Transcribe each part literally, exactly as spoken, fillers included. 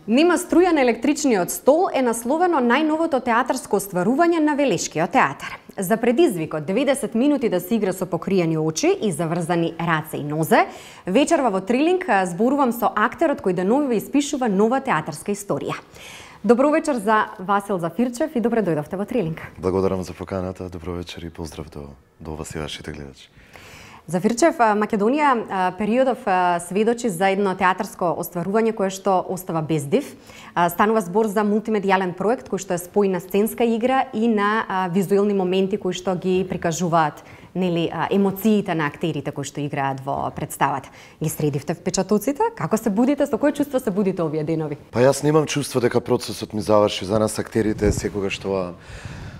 Нема струја на електричниот стол е насловено најновото театарско остварување на Велешкиот театар. За предизвикот деветдесет минути да се игра со покриени очи и заврзани раце и нозе, вечерва во Трилинг зборувам со актерот кој деновива испишува нова театарска историја. Добро вечер за Васил Зафирчев и добре дојдовте во Трилинг. Благодарам за поканата, добро вечер и поздрав до, до вас и вашите гледачи. Зафирчев, Македонија периодов сведочи за едно театарско остварување кое што остава без див. Станува збор за мултимедијален проект кој што е спој на сценска игра и на визуелни моменти кои што ги прикажуваат нели емоциите на актерите кои што играат во представата. Ги средивте впечатоците? Како се будите? Со кој чувство се будите овие денови? Па јас немам чувство дека процесот ми заврши. За нас актерите е секогаш тоа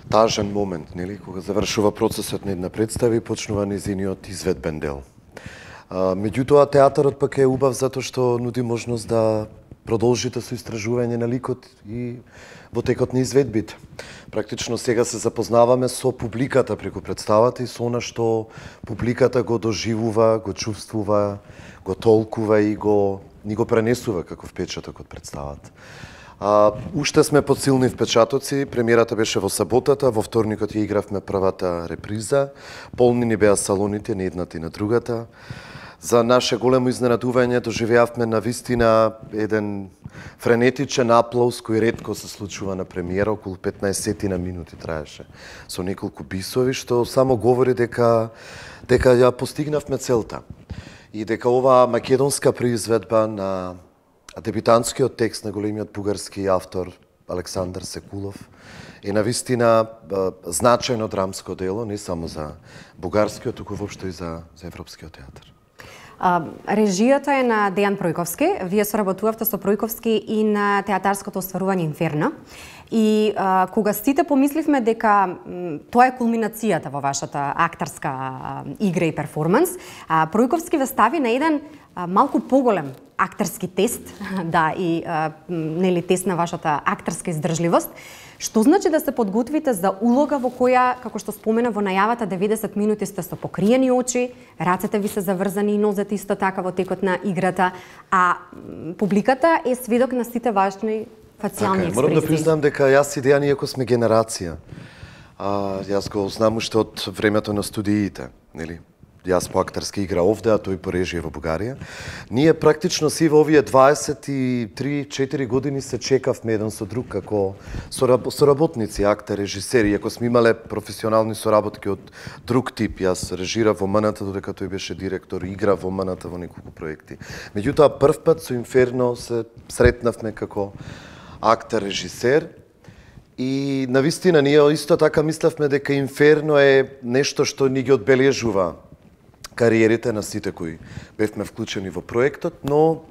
тажен момент, нели, кога завршува процесот на една представа и почнува незиниот изведбен дел. А, меѓутоа, театарот пак е убав затоа што нуди можност да продолжите со истражување на ликот и во текот на изведбите. Практично сега се запознаваме со публиката преку представата и со она што публиката го доживува, го чувствува, го толкува и го ни го пренесува како впечаток од представата. А, уште сме под силни впечатоци. Премиерата беше во саботата, во вторникот ја игравме првата реприза. Полни ни беа салоните на едната и на другата. За наше големо изненадување доживеавме на вистина еден френетичен аплауз кој ретко се случува на премиера, околу петнаесет на минути траеше, со неколку бисови, што само говори дека дека ја постигнавме целта и дека оваа македонска произведба на дебютантскиот текст на големиот бугарски автор Александар Секулов е навистина значајно драмско дело, не само за бугарскиот, туку воопшто и за, за европскиот театар. А, режијата е на Дејан Пројковски. Вие соработувавте со Пројковски и на театарското остварување Инферно. И а, кога сите помисливме дека м, тоа е кулминацијата во вашата актерска а, игра и перформанс, а, Пројковски ве стави на еден а, малку поголем актерски тест, да, и а, нели тест на вашата актерска издржливост. Што значи да се подготвите за улога во која, како што спомена во најавата, деветдесет минути сте со покриени очи, рацете ви се заврзани и нозете исто така во текот на играта, а публиката е сведок на сите важни фацијални експресии. Морам да признам дека јас и Дејан иако сме генерација. А, јас го знам уште од времето на студиите, нели? Јас по актерска игра овде, а тој по режија во Бугарија. Ние практично си во овие дваесет и три четири години се чекавме еден со друг како соработници, актер, режисери, иако сме имале професионални соработки од друг тип. Јас режирав во МНТ додека тој беше директор, игра во МНТ во неколку проекти. Меѓутоа прв пат со Инферно се сретнавме како актер, режисер. И навистина ние исто така мислевме дека Инферно е нешто што ни ги одбележува кариерите на сите кои бевме вклучени во проектот, но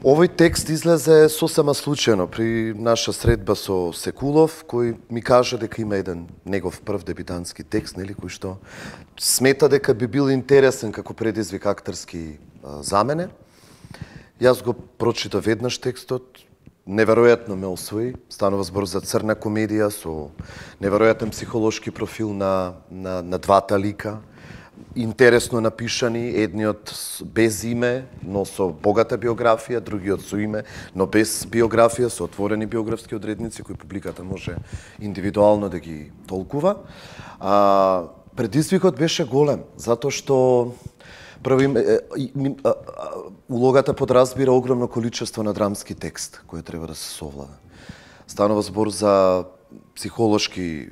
овој текст излезе сосема случајно при наша средба со Секулов, кој ми кажа дека има еден негов прв дебютантски текст, нели, кој што смета дека би бил интересен како предизвик актерски а, за мене. Јас го прочита веднаш текстот, неверојатно ме освои. Станува збор за црна комедија со неверојатен психолошки профил на, на, на двата лика. Интересно напишани, едниот без име, но со богата биографија, другиот со име, но без биографија, со отворени биографски одредници кои публиката може индивидуално да ги толкува. А, предизвикот беше голем, затоа што први, улогата подразбира огромно количество на драмски текст кој треба да се совлада. Станува збор за психолошки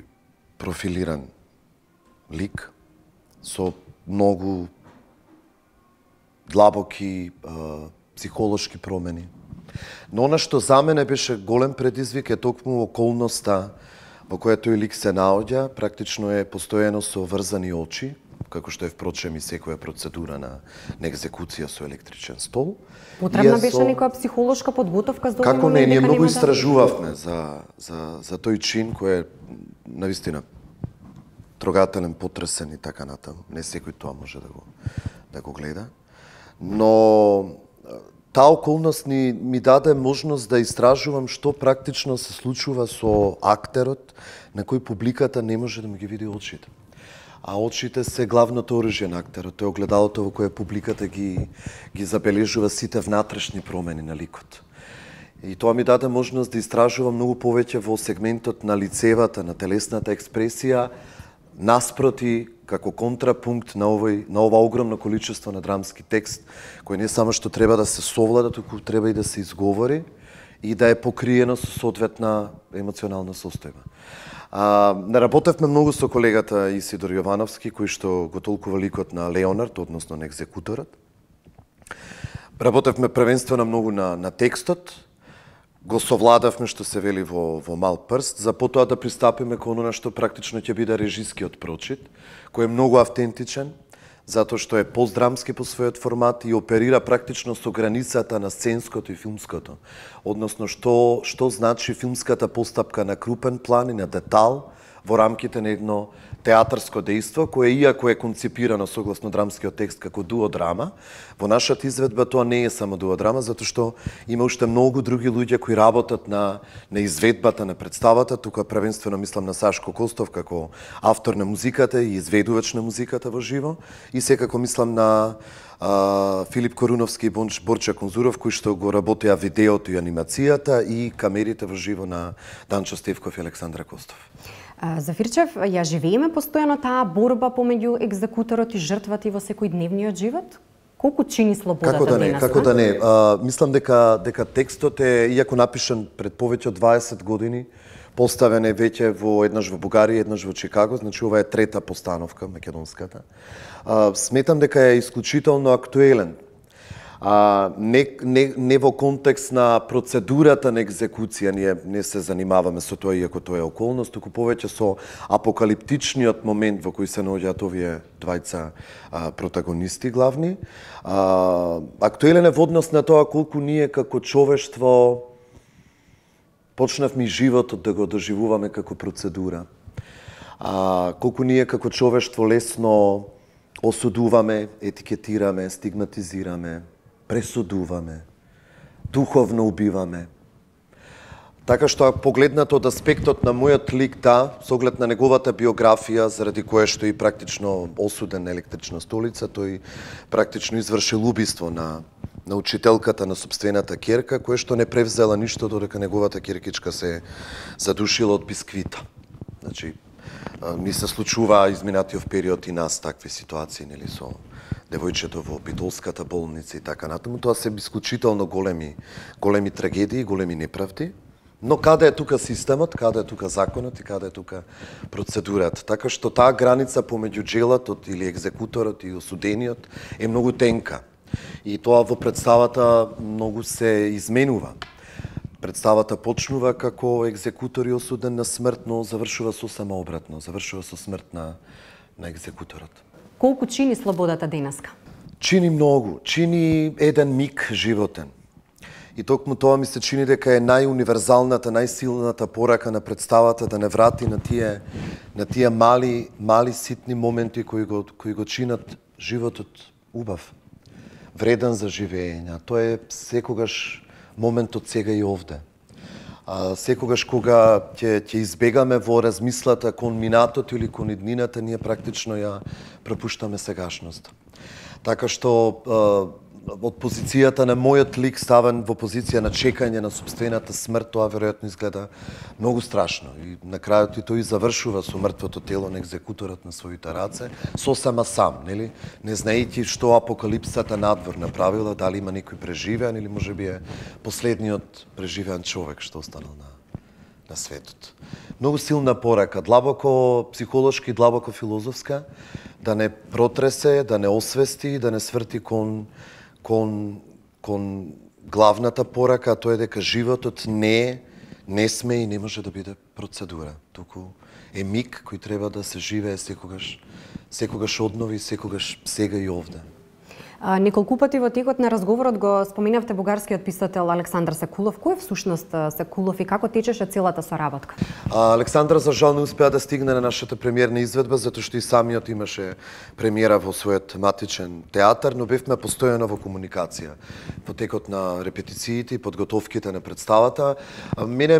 профилиран лик, со многу длабоки а, психолошки промени. Но она што за мене беше голем предизвик е токму околноста во која тој лик се наоѓа, практично е постојано со врзани очи, како што е впрочем и секоја процедура на, на екзекуција со електричен стол. Потребна беше со... некоја психолошка подготовка за овој како момент? Како не, ние многу да... истражувавме за, за, за тој чин кој е навистина трогателен, потресен и така натаму. Не секој тоа може да го, да го гледа. Но таа околност ни, ми даде можност да истражувам што практично се случува со актерот на кој публиката не може да му ги види очите. А очите се главното оружје на актерот. Тоа е огледалото во кое публиката ги, ги забележува сите внатрешни промени на ликот. И тоа ми даде можност да истражувам многу повеќе во сегментот на лицевата, на телесната експресија, наспроти како контрапункт на овој на ова огромно количество на драмски текст, кој не само што треба да се совлада, туку треба и да се изговори и да е покриено со соодветна емоционална состојба. А, не работевме многу со колегата Исидор Јовановски, кој што го толкува ликот на Леонард, односно на екзекуторот. Работевме првенствено многу на, на текстот, го совладавме, што се вели, во, во мал прст, за потоа да пристапиме кон она што практично ќе биде режискиот прочит, кој е многу автентичен, затоа што е постдрамски по својот формат и оперира практично со границата на сценското и филмското. Односно, што, што значи филмската постапка на крупен план и на детал во рамките на едно театарско дејство, кое иако е концепирано согласно драмскиот текст како дуодрама, во нашата изведба тоа не е само дуодрама, затоа што има уште многу други луѓе кои работат на, на изведбата на представата, тука првенствено мислам на Сашко Костов како автор на музиката и изведувач на музиката во живо, и секако мислам на а, Филип Коруновски и Борча Конзуров, кои што го работеа видеото и анимацијата и камерите во живо на Данчо Стевков и Александра Костов. Зафирчев, ја живееме постојано таа борба помеѓу екзекуторот и жртвата во секојдневниот живот? Колку чини слободата како да не, денес? Како да не, а, мислам дека дека текстот е, иако напишан пред повеќе од дваесет години, поставен е веќе во еднаш во Бугарија, еднаш во Чикаго, значи ова е трета постановка, македонската. А, сметам дека е исклучително актуелен. А, не, не, не во контекст на процедурата на екзекуција, ние не се занимаваме со тоа, иако тоа е околност, туку повеќе со апокалиптичниот момент во кој се наоѓаат овие двајца а, протагонисти главни. А, актуелен е во однос на тоа колку ние како човештво почнавме животот да го доживуваме како процедура. А, колку ние како човештво лесно осудуваме, етикетираме, стигматизираме, пресудуваме, духовно убиваме. Така што погледнато од аспектот на мојот лик, да, со оглед на неговата биографија, заради кое што и практично осуден на електрична столица, тој практично извршил убиство на на учителката на собствената ќерка, која што не превзела ништо додека неговата ќеркичка се задушила од бисквита. Значи, ни се случува изминатиот период и нас такви ситуации, нели, со девојчето во Битолската болница и така натаму. Тоа се исклучително големи, големи трагедии, големи неправди. Но каде е тука системот, каде е тука законот и каде е тука процедурата. Така што таа граница помеѓу джелатот или екзекуторот и осудениот е многу тенка. И тоа во представата многу се изменува. Представата почнува како екзекутор и осуден на смрт, но завршува сосема обратно, завршува со смрт на, на екзекуторот. Колку чини слободата денеска? Чини многу, чини еден миг животен. И токму тоа ми се чини дека е најуниверзалната, најсилната порака на представата да не врати на тие на тие мали мали ситни моменти кои го кои го чинат животот убав, вреден за живење. Тоа е секогаш моментот сега и овде. А, секогаш кога ќе ќе избегаме во размислата кон минатото или кон иднината, ние практично ја пропуштаме сегашноста. Така што од позицијата на мојот лик ставен во позиција на чекање на собствената смрт, тоа веројатно изгледа многу страшно. И на крајот и тој завршува со мртвото тело на екзекуторот на своите раце, сосема сам, нели? Не знаејќи што апокалипсата надвор направила, дали има некој преживеан или можеби е последниот преживеан човек што останал на на светот. Многу силна порака, длабоко психолошки, длабоко филозофска, да не протресе, да не освести, да не сврти кон кон кон главната порака, тоа е дека животот не не сме и не може да биде процедура, туку е миг кој треба да се живее секогаш, секогаш однови, секогаш сега и овде. А, неколку пати во текот на разговорот го споменавте бугарскиот писател Александар Секулов. Кој е всушност Секулов и како течеше целата соработка? А, Александар за жал не успеа да стигне на нашата премиерна изведба, затоа што и самиот имаше премиера во својот матичен театар, но бевме постојано во комуникација во текот на репетициите и подготовките на представата. А, мене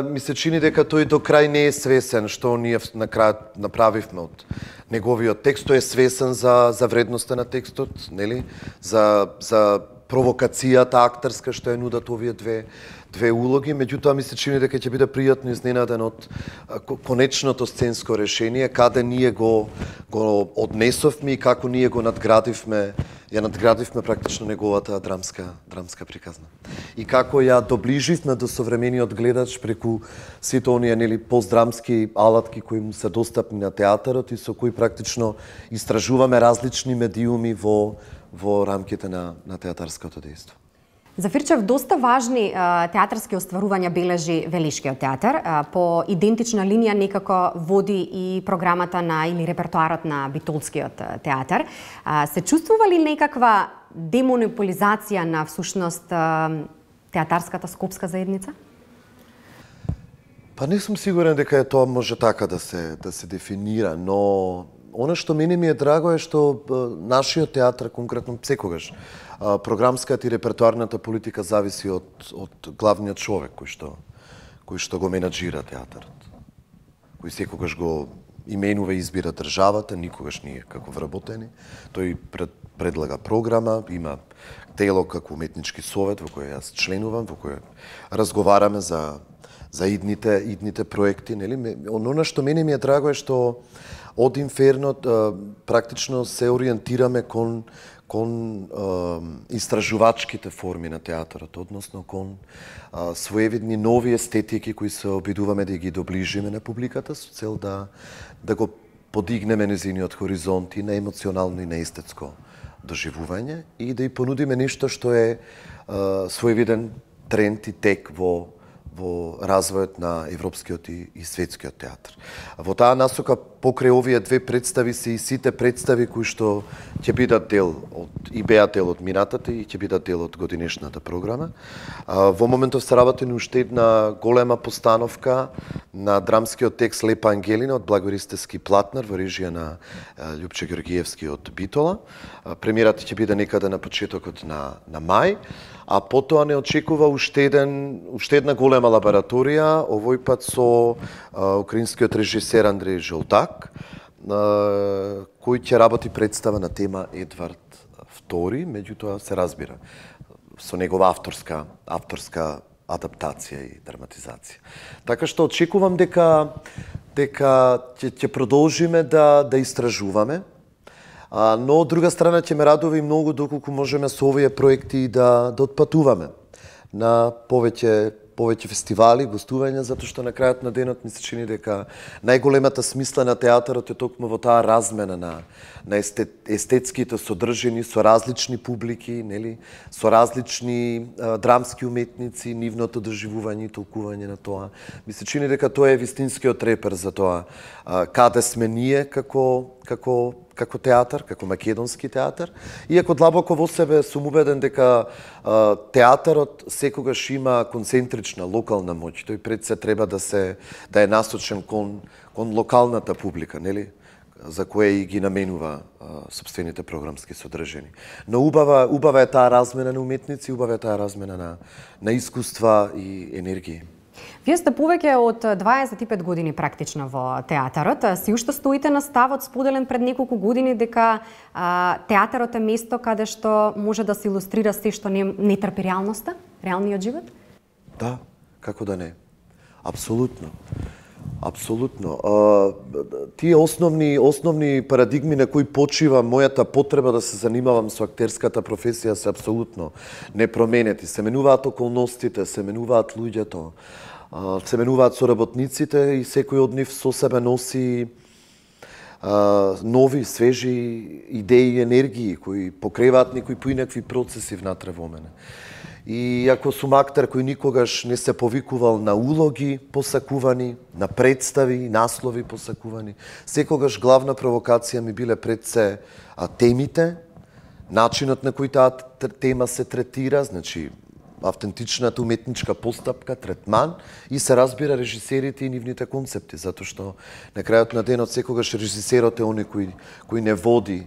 ми се чини дека тој до крај не е свесен што ние на крај направивме од неговиот текст. Тој е свесен за за вредноста на текстот, нели? За за провокацијата актерска што ја нудат овие две две улоги, меѓутоа ми се чини дека ќе биде пријатно изненаден од конечното сценско решение, каде ние го го однесовме и како ние го надградивме, ја надградивме практично неговата драмска драмска приказна. И како ја доближивме до современиот гледач преку сите оние нели постдрамски алатки кои му се достапни на театарот и со кои практично истражуваме различни медиуми во во рамките на на театарското дејство. Зафирчев, доста важни а, театарски остварувања бележи Велишкиот театар. А, по идентична линија некако води и програмата на или репертоарот на Битолскиот театар. А, се чувствува ли некаква демонополизација на всушност а, театарската скопска заедница? Па не сум сигурен дека е тоа може така да се да се дефинира, но она што мене ми е драго е што нашиот театар конкретно секогаш програмската и репертоарната политика зависи од од главниот човек кој што кој што го менаџира театарот. Кој секогаш го именува и избира државата, никогаш ние како вработени. Тој пред, предлага програма, има тело како уметнички совет во кој јас членувам, во кој разговараме за за идните идните проекти, нели? Оно што мене ми е драго е што од Инферно практично се ориентираме кон кон е, истражувачките форми на театарот, односно кон е, своевидни нови естетики кои се обидуваме да ги доближиме на публиката со цел да да го подигнеме незиниот хоризонт и на емоционално и на естетско доживување и да ја понудиме нешто што е, е своевиден тренд и тек во во развојот на европскиот и, и светскиот театар. Во таа насока покрај овие две представи се и сите представи кои што ќе бидат дел од и беа дел од минатата и ќе бидат дел од годинешната програма. Во моментов се работи на уште една голема постановка на драмскиот текст Лепа Ангелина од Благористевски Платнер во режија на Љупче Георгиевски од Битола. Премиерата ќе биде некаде на почетокот на на мај. А потоа не очекува уште еден уште една голема лабораторија, овој пат со а, украинскиот режисер Андрей Жолтак, а, кој ќе работи представа на тема Едвард втори, меѓутоа се разбира со негова авторска авторска адаптација и драматизација. Така што очекувам дека дека ќе ќе продолжиме да да истражуваме. А, но од друга страна ќе ме радува и многу доколку можеме со овие проекти да да отпатуваме на повеќе повеќе фестивали, гостувања, затоа што на крајот на денот ми се чини дека најголемата смисла на театарот е токму во таа размена на на естет, естетските содржини со различни публики, нели, со различни а, драмски уметници, нивното доживување и толкување на тоа. Ми се чини дека тоа е вистинскиот репер за тоа а, каде сме ние како како како театар, како македонски театар. Иако длабоко во себе сум убеден дека а, театарот секогаш има концентрична локална моќ. Тој пред се треба да се да е насочен кон кон локалната публика, нели? За кое и ги наменува а, собствените програмски содржини. Но убава убава е таа размена на уметници, убава е таа размена на на искуства и енергии. Вие сте повеќе од дваесет и пет години практично во театарот. Си уште стоите на ставот споделен пред неколку години дека а, театарот е место каде што може да се илустрира се што не, не трпи реалноста, реалниот живот? Да, како да не. Апсолутно. Апсолутно. А, тие основни основни парадигми на кои почива мојата потреба да се занимавам со актерската професија се апсолутно непроменети. Се менуваат околностите, се менуваат луѓето, се менуваат соработниците и секој од нив со себе носи а, нови, свежи идеи и енергии кои покреваат некои поинакви процеси внатре во мене. И ако сум актер кој никогаш не се повикувал на улоги посакувани, на представи, наслови посакувани, секогаш главна провокација ми биле пред се а, темите, начинот на кој таа тема се третира, значи автентичната уметничка постапка, третман и се разбира режисерите и нивните концепти, затоа што на крајот на денот секогаш режисерот е оној кој кој не води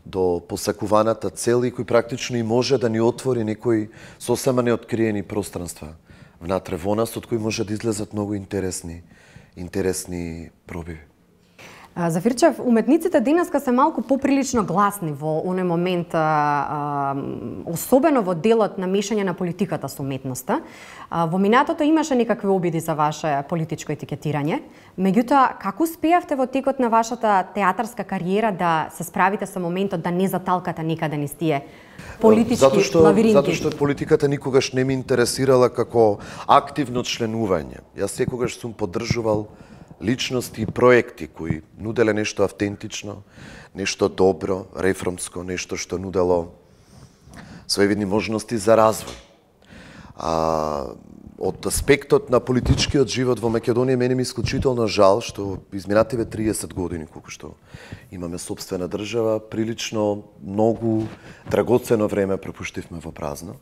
до посакуваната цел и кој практично и може да ни отвори некои сосема неоткриени пространства внатре во нас, од кои може да излезат многу интересни интересни пробиви. Зафирчев, уметниците денеска се малку поприлично гласни во оној момент, а, а, особено во делот на мешање на политиката со уметноста. А, во минатото имаше некакви обиди за ваше политичко етикетирање. Меѓутоа, како успеавте во текот на вашата театарска кариера да се справите со моментот да не заталкате некаде низ тие политички затоа што, лавиринки? Затоа што политиката никогаш не ми интересирала како активно членување. Јас секогаш сум поддржувал личности и проекти кои нуделе нешто автентично, нешто добро, реформско, нешто што нудело своевидни можности за развој. А, од аспектот на политичкиот живот во Македонија мене ми исклучително жал што изминативе триесет години колку што имаме сопствена држава, прилично многу драгоцено време пропуштивме во празно,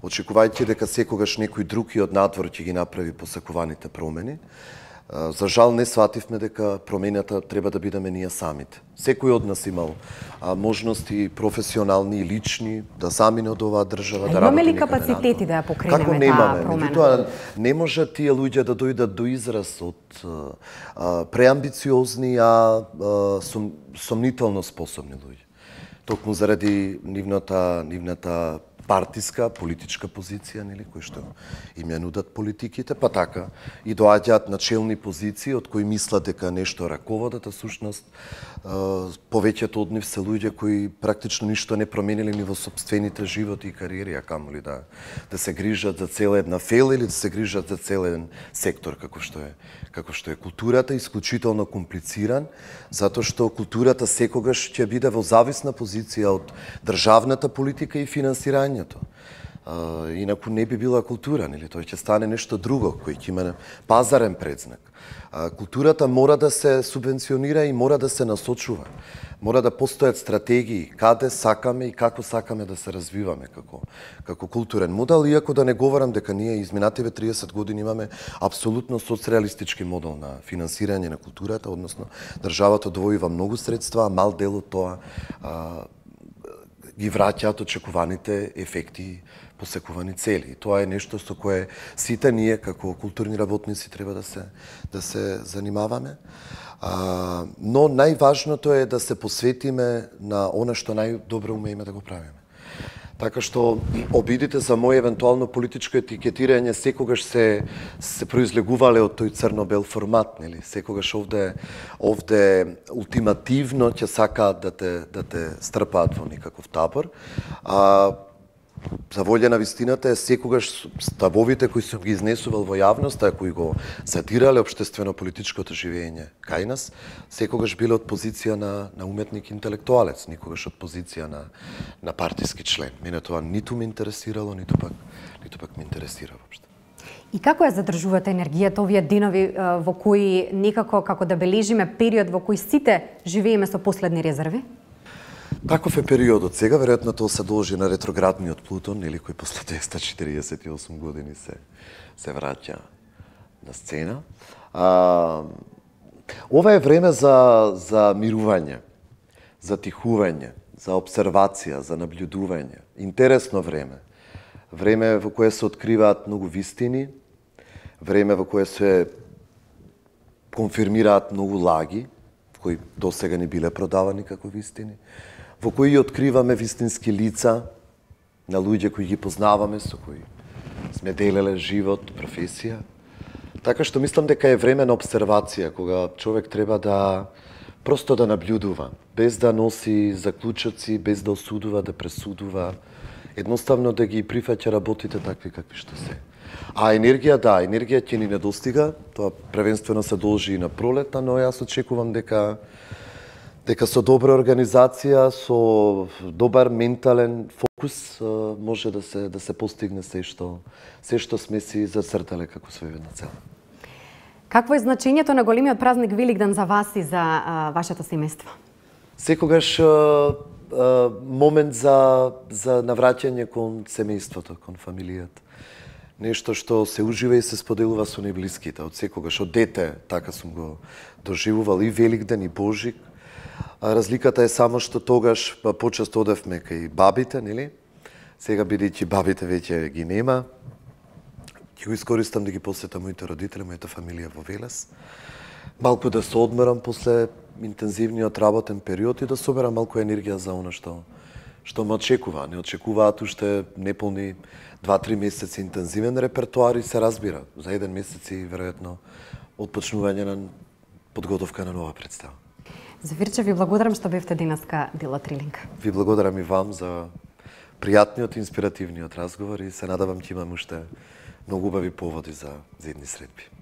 очекувајќи дека секогаш некој друг и од надвор ќе ги направи посакуваните промени. За жал не свативме дека промената треба да бидеме ние самите. Секој од нас имал а, можности професионални и лични да замине од оваа држава, а да работи некаде. Имаме ли капацитети да ја покренеме таа промена? Меѓутоа, не може тие луѓе да дојдат до израз од а, преамбициозни, а, а сум, сомнително способни луѓе. Токму заради нивната, нивната партиска, политичка позиција, нели, кои што им ја нудат политиките, па така и доаѓаат на челни позиции од кои мислат дека нешто раководат, а сушност повеќето од нив се луѓе кои практично ништо не промениле ни во сопствените животи и кариери, а камоли да да се грижат за цела една фела или да се грижат за цел еден сектор како што е како што е културата, исклучително комплициран, затоа што културата секогаш ќе биде во зависна позиција од државната политика и финансирање. Uh, инаку не би била култура, нели? Тоа ќе стане нешто друго, кој ќе има пазарен предзнак. Uh, културата мора да се субвенционира и мора да се насочува. Мора да постојат стратегии каде сакаме и како сакаме да се развиваме како како културен модел, иако да не говорам дека ние изминативе триесет години имаме апсолутно соцреалистички модел на финансирање на културата, односно државата одвојува многу средства, а мал дел од тоа uh, ги враќаат очекуваните ефекти, посекувани цели. И тоа е нешто со кое сите ние како културни работници треба да се да се занимаваме. А, но најважното е да се посветиме на она што најдобро умееме да го правиме. Така што обидите за мој евентуално политичко етикетирање секогаш се се произлегувале од тој црно-бел формат, нели? Секогаш овде овде ултимативно ќе сакаат да те да те стрпаат во некаков табор. А за волја на вистината е секогаш ставовите кои сум ги изнесувал во јавноста, кои го задирале општествено-политичкото живење кај нас, секогаш биле од позиција на на уметник интелектуалец, никогаш од позиција на на партиски член. Мене тоа ниту ме интересирало, ниту пак ниту пак ме интересира воопшто. И како ја задржувате енергијата овие денови во кои некако како да бележиме период во кој сите живееме со последни резерви? Таков е периодот сега, веројатно тоа се должи на ретроградниот Плутон, или кој после двеста четириесет и осум години се се враќа на сцена. А, ова е време за за мирување, за тихување, за обсервација, за наблюдување. Интересно време. Време во кое се откриваат многу вистини, време во кое се конфирмираат многу лаги, кои досега не биле продавани како вистини, во кои откриваме вистински лица на луѓе кои ги познаваме, со кои сме делеле живот, професија. Така што мислам дека е време на обсервација, кога човек треба да просто да наблюдува, без да носи заклучоци, без да осудува, да пресудува, едноставно да ги прифаќа работите такви какви што се. А енергија, да, енергија ќе ни недостига, тоа првенствено се должи и на пролета, но јас очекувам дека дека со добра организација, со добар ментален фокус може да се да се постигне се што се што сме си зацртале како своевидна цел. Какво е значењето на големиот празник Великден за вас и за а, вашето семејство? Секогаш а, а, момент за за навраќање кон семејството, кон фамилијата. Нешто што се ужива и се споделува со најблиските. Од секогаш, од дете, така сум го доживувал и Великден и Божик. А разликата е само што тогаш па, почесто одевме кај бабите, нели? Сега бидејќи бабите веќе ги нема, ќе го искористам да ги посетам моите родители, мојата фамилија во Велес. малку да се одмерам после интензивниот работен период и да соберам малку енергија за она што што ме очекува. Не очекуваат уште неполни два-три месеци интензивен репертоар и се разбира. За еден месец и веројатно отпочнување на подготовка на нова представа. Зафирче, ви благодарам што бевте денеска дел од Трилинг. Ви благодарам и вам за пријатниот, инспиративниот разговор и се надавам ќе имам уште многу убави поводи за, за едни средби.